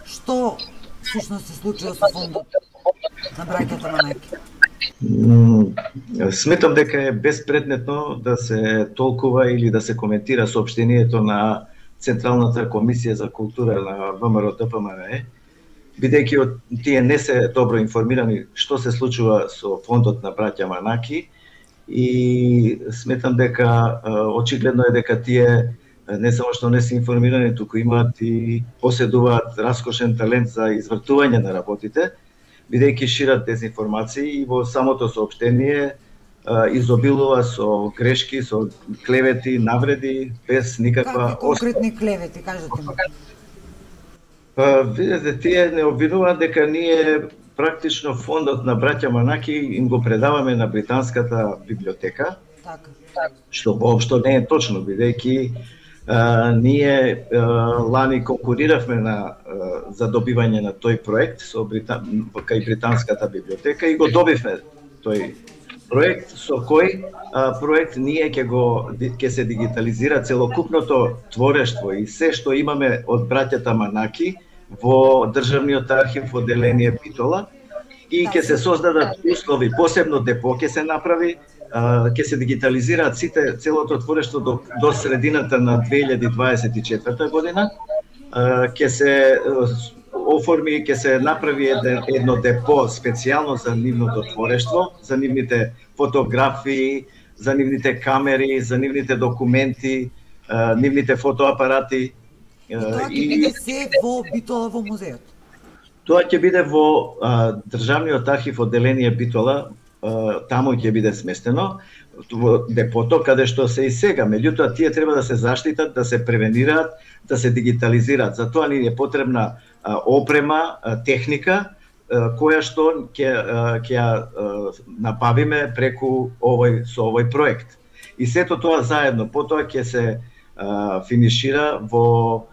што всушност се случува со фондот на браќата Манаки? Сметам дека е безпредметно да се толкува или да се коментира соопштението на Централната комисија за култура на ВМРО ДПМНЕ, бидејќи тие не се добро информирани што се случува со фондот на браќа Манаки, и сметам дека очигледно е дека тие не само што не се информирани, туку имаат и поседуваат раскошен талент за извртување на работите, бидејќи шират дезинформации и во самото соопштение изобилува со грешки, со клевети, навреди, без никаква Какви конкретни клевети, кажете ми? Видете, тие не обвинуваат дека ние практично фондот на браќа Манаки им го предаваме на британската библиотека, Така. што воопшто не е точно, бидејќи ние лани конкуриравме за добивање на тој проект со кај британската библиотека и го добивме тој проект, со кој проект ние ќе се дигитализира целокупното творештво и се што имаме од браќата Манаки во Државниот архив одделение Битола, и ќе се создадат услови, посебно депо ќе се направи, ќе се дигитализираат целото творештво до средината на 2024 година, ќе се оформи, ќе се направи едно депо специјално за нивното творештво, за нивните фотографии, за нивните камери, за нивните документи, нивните фотоапарати. И тоа ќе биде се во Битола во музеот? Тоа ќе биде во Државниот архив одделение Битола, таму ќе биде сместено во депото каде што се и сега. Меѓутоа тие треба да се заштитат, да се превенираат, да се дигитализираат. За тоа ни е потребна опрема, техника која што ќе набавиме преку со овој проект. И сето тоа заедно потоа ќе се финишира во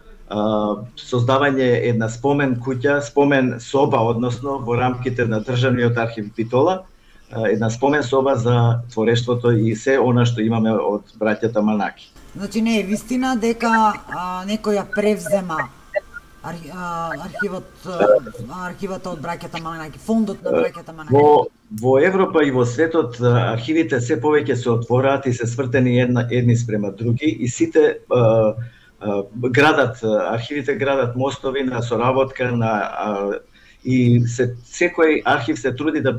создавање една спомен куќа, спомен соба, односно во рамките на Државниот архив Битола, една спомен соба за творештвото и се она што имаме од браќата Манаки. Значи не е вистина дека некој ја превзема архивата од браќата Манаки, фондот на браќата Манаки? Во Европа и во светот архивите се повеќе се отвораат и се свртени едни спрема други, и сите архивите градат мостови на соработка и секој архив се труди да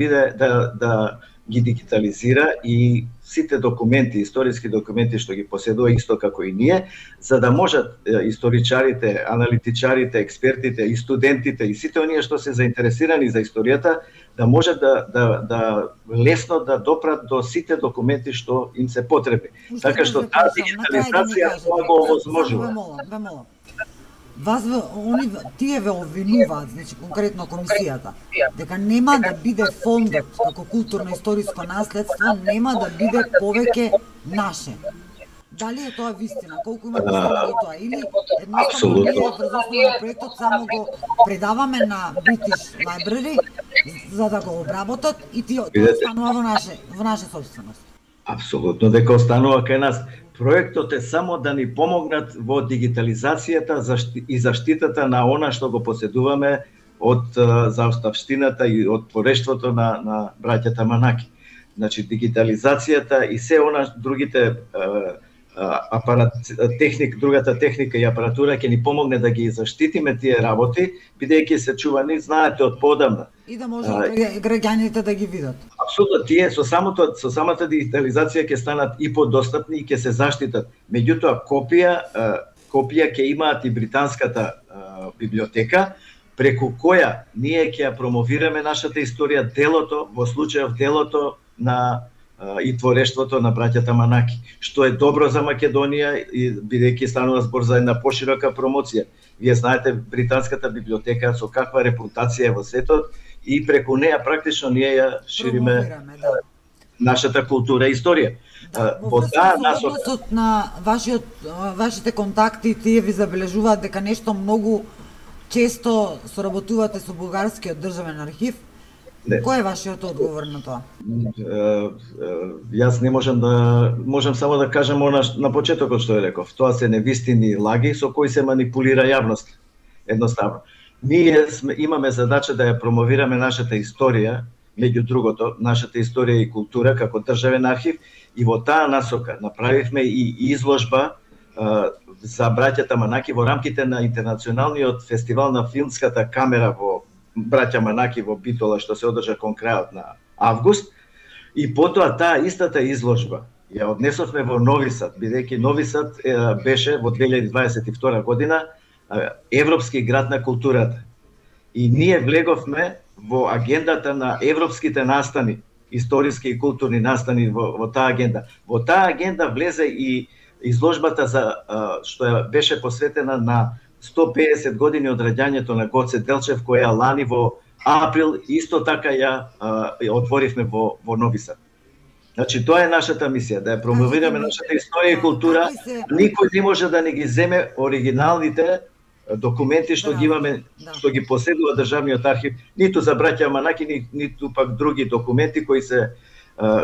ги дигитализира и сите документи, историски документи што ги поседува исто како и ние, за да можат историчарите, аналитичарите, експертите и студентите и сите оние што се заинтересирани за историјата да можат да лесно да допрат до сите документи што им се потребни. Така што таа дигитализација го овозможува. Ве молам. Тие ве обвинуваат, значи конкретно комисијата, дека нема да биде фондот како културно-историско наследство, нема да биде повеќе наше. Дали е тоа вистина? Колку има вистина до тоа? Или едноставно ние врз основа на проектот само го предаваме на British Library за да го обработат и тоа останува во наша собственост? Апсолутно дека останува кај нас. Проектот е само да ни помогнат во дигитализацијата и заштитата на она што го поседуваме од заоставштината и од творештвото на браќата Манаки. Значи дигитализацијата и се она другите другата техника и апаратура ќе ни помогне да ги заштитиме тие работи, бидејќи се чувани, знаете, од подамна. И да може граѓаните да ги видат. Апсолутно, тие со самата дигитализација ќе станат и подостапни и ќе се заштитат. Меѓутоа копија ќе имаат и британската библиотека, преку која ние ќе ја промовираме нашата историја, во случајов делото на и творештвото на браќата Манаки, што е добро за Македонија, и бидејќи станува збор за една поширока промоција. Вие знаете британската библиотека со каква репутација е во светот и преку неја практично ние ја шириме нашата култура и историја. Во односот на вашите контакти, тие ви забележуваат дека нешто многу често соработувате со Бугарскиот државен архив. Не. Кој е вашиот одговор на тоа? Јас не можам само да кажам на почетокот што ја реков. Тоа се невистини лаги со кои се манипулира јавност. Едноставно. Ние имаме задача да ја промовираме нашата историја, меѓу другото, нашата историја и култура како државен архив, и во таа насока направивме и изложба за браќата Манаки во рамките на интернационалниот фестивал на филмската камера во браќа Манаки во Битола, што се одржа кон крајот на август. И потоа таа истата изложба ја однесовме во Нови Сад, бидејќи Нови Сад беше во 2022 година Европски град на културата. И ние влеговме во агендата на европските настани, историски и културни настани во таа агенда. Во таа агенда влезе и изложбата за што беше посветена на 150 години од раѓањето на Гоце Делчев, која лани во април исто така ја отворивме во Нови Сад. Значи тоа е нашата мисија, да ја промовираме нашата историја и култура. Никој не може да не ги земе оригиналните документи што ги имаме, што ги поседува државниот архив, ниту за браќа Манаки, ниту пак други документи кои се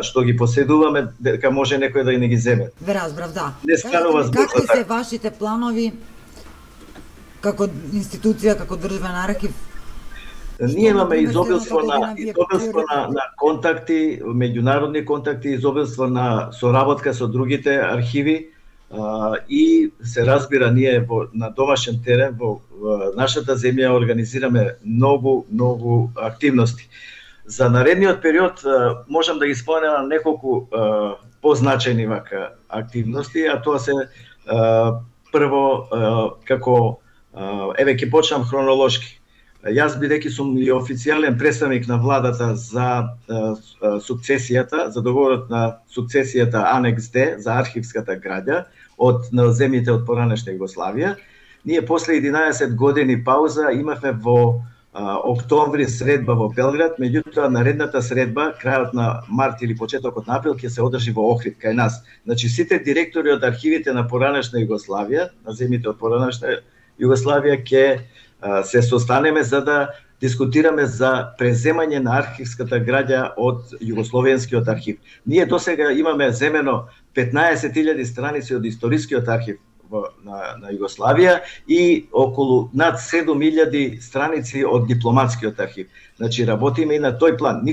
што ги поседуваме, дека може некој да не ги земе. Ве разбрав, да. Не станува збор. Какви се вашите планови како институција, како државен архив? Ние имаме изобилство на контакти, меѓународни контакти, изобилство на соработка со другите архиви, и се разбира, ние на домашен терен во нашата земја организираме многу активности. За наредниот период можам да ги споменам неколку позначајни вака активности, а тоа се прво како ќе почнам хронолошки. Јас бидејќи сум и официјален представник на владата за сукцесијата, за договорот на сукцесијата Анекс Д за архивската граѓа од земјите од поранешна Југославија, ние после 11 години пауза имавме во октомври средба во Белград, меѓутоа наредната средба, крајот на март или почетокот на април, ќе се одржи во Охрид, кај нас. Значи сите директори од архивите на поранешна Југославија, на земјите од поранешна Југославија, ќе се состанеме за да дискутираме за преземање на архивската граѓа од Југословенскиот архив. Ние досега имаме земено 15.000 страници од историскиот архив на Југославија и околу над 7.000 страници од дипломатскиот архив. Значи работиме и на тој план.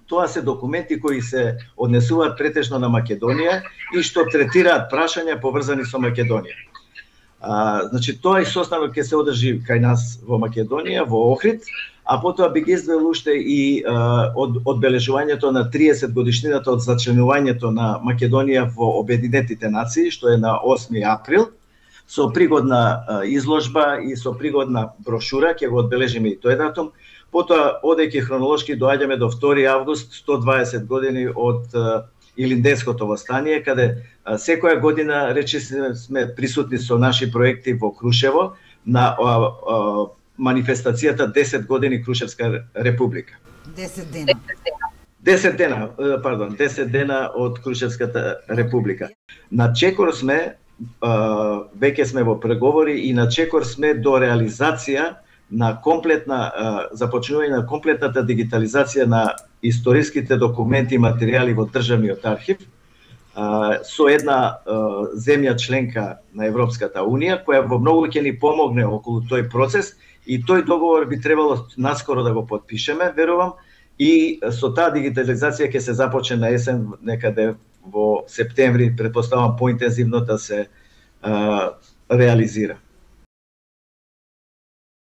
Тоа се документи кои се однесуваат претежно на Македонија и што третираат прашања поврзани со Македонија. Значи тоа и состанок ќе се одржи кај нас во Македонија, во Охрид, а потоа би ги издвоил уште и одбележувањето на 30 годишнината од зачленувањето на Македонија во Обединетите нации, што е на 8 април, со пригодна изложба и со пригодна брошура, ќе го одбележиме и тој датум. Потоа, одејќи хронолошки, доаѓаме до 2 август, 120 години од Илинденското востание, каде секоја година речи сме присутни со наши проекти во Крушево на манифестацијата 10 години Крушевска република. 10 дена од Крушевската република. На чекор сме, веќе сме во преговори и на чекор сме до реализација на започнување на комплетната дигитализација на историските документи и материјали во државниот архив со една земја членка на Европската Унија, која во многу ќе ни помогне околу тој процес, и тој договор би требало наскоро да го потпишеме, верувам, и со таа дигитализација ќе се започне на есен, некаде во септември, претпоставам поинтензивно да се реализира.